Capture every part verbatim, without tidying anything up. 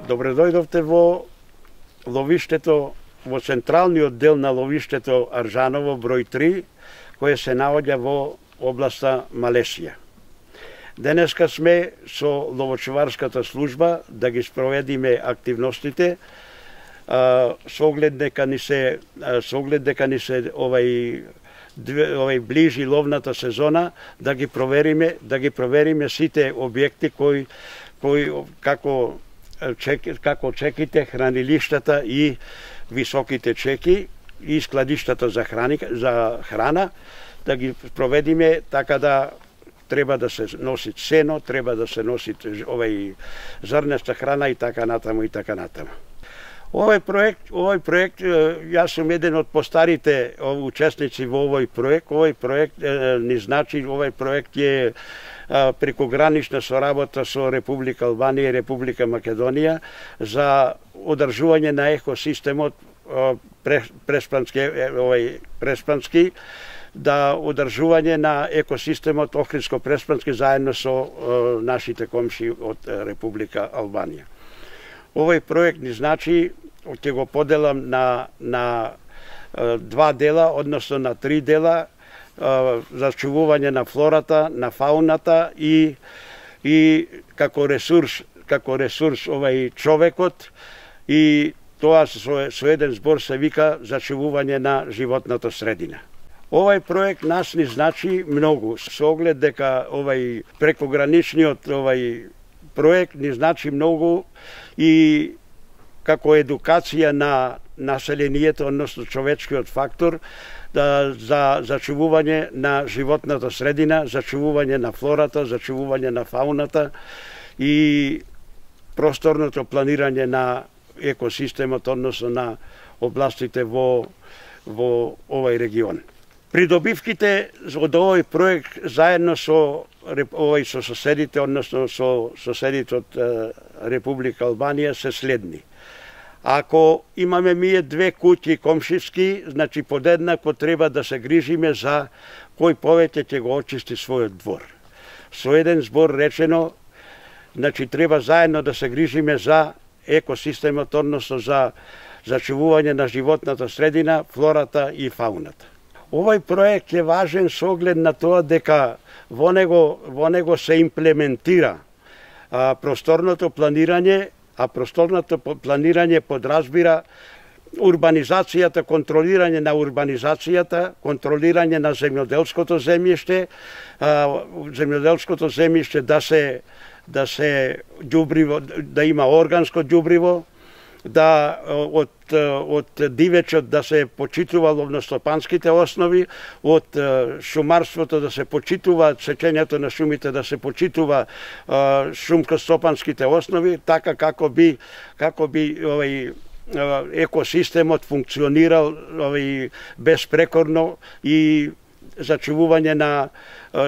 Добре дојдовте во ловиштето, во централниот дел на ловиштето Аржаново број три, кое се наоѓа во областа Малесија. Денеска сме со ловочуварската служба да ги спроведиме активностите, а, со оглед дека ни се а, со оглед дека ни се овај овај ближи ловната сезона, да ги провериме, да ги провериме сите објекти кои кои како чеки, како чеките, хранилиштата и високите чеки и складиштата за храни, за храна, да ги проведиме така да треба да се носи сено, треба да се носи овај зрнеста храна и така натаму и така натаму. Овој проект, овој проект, јас сум еден од постарите учесници во овој проект. Овој проект ни значи, овој проект е прекогранична соработа со Република Албанија и Република Македонија за одржување на екосистемот преспански, овој преспански, да одржување на екосистемот Охридско-преспански заедно со нашите комши од Република Албанија. Овој проект ни значи, ќе го поделам на, на два дела, односно на три дела, зачувување на флората, на фауната и, и како ресурс, како ресурс овај човекот, и тоа со, со еден збор се вика зачувување на животната средина. Овај проект нас ни значи многу, со оглед дека овај прекограничниот овај проект ни значи многу и како едукација на населението, односно човечкиот фактор, да, за зачувување на животната средина, зачувување на флората, зачувување на фауната и просторното планирање на екосистемот, односно на областите во, во овој регион. Придобивките од овој проект заедно со овој со соседите, односно со соседите од Република Албанија се следни. Ако имаме ние две куќи комшиски, значи подеднакво треба да се грижиме за кој повеќе ќе го очисти својот двор. Со еден збор речено, значи треба заедно да се грижиме за екосистемот, односно за зачувување на животната средина, флората и фауната. Овој проект е важен со оглед на тоа дека во него, во него се имплементира а, просторното планирање, а просторното планирање подразбира урбанизацијата, контролирање на урбанизацијата, контролирање на земјоделското земјиште, а, земјоделското земјиште да се да се ѓубриво, да има органско ѓубриво, да од, од дивечот да се почитува ловностопанските основи, од шумарството да се почитува сечењето на шумите, да се почитува шумкостопанските основи, така како би како би овој екосистемот функционирал овој безпрекорно и зачувување на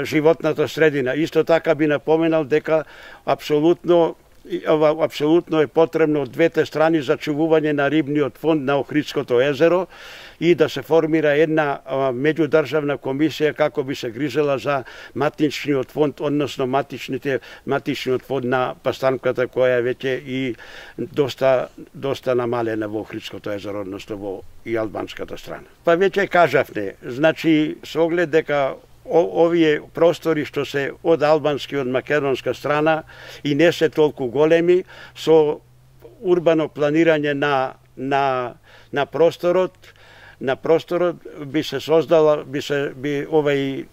животната средина. Исто така би напоменал дека апсолутно Ова апсолутно е потребно од двете страни зачувување на рибниот фонд на Охридското езеро и да се формира една меѓудржавна комисија како би се грижела за матичниот фонд, односно матичните матичниот фонд на пастанката која веќе и доста доста намалена во Охридското езеро, односно во и албанската страна. Па веќе кажавте, значи со оглед дека овие простори што се од албански и од македонска страна и не се толку големи, со урбано планирање на на на просторот, на просторот би се создала, би се би овај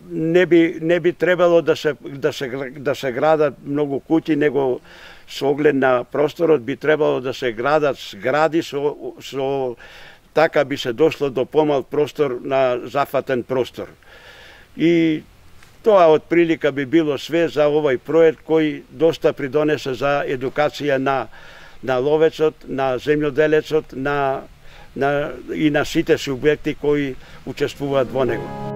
не би не би требало да се да се да се градат многу куќи, него со оглед на просторот би требало да се градат згради со со така би се дошло до помал простор на зафатен простор. И тоа од прилика би било све за овој проект кој доста придонесе за едукација на на ловецот, на земјоделецот, на на и на сите субјекти кои учествуваат во него.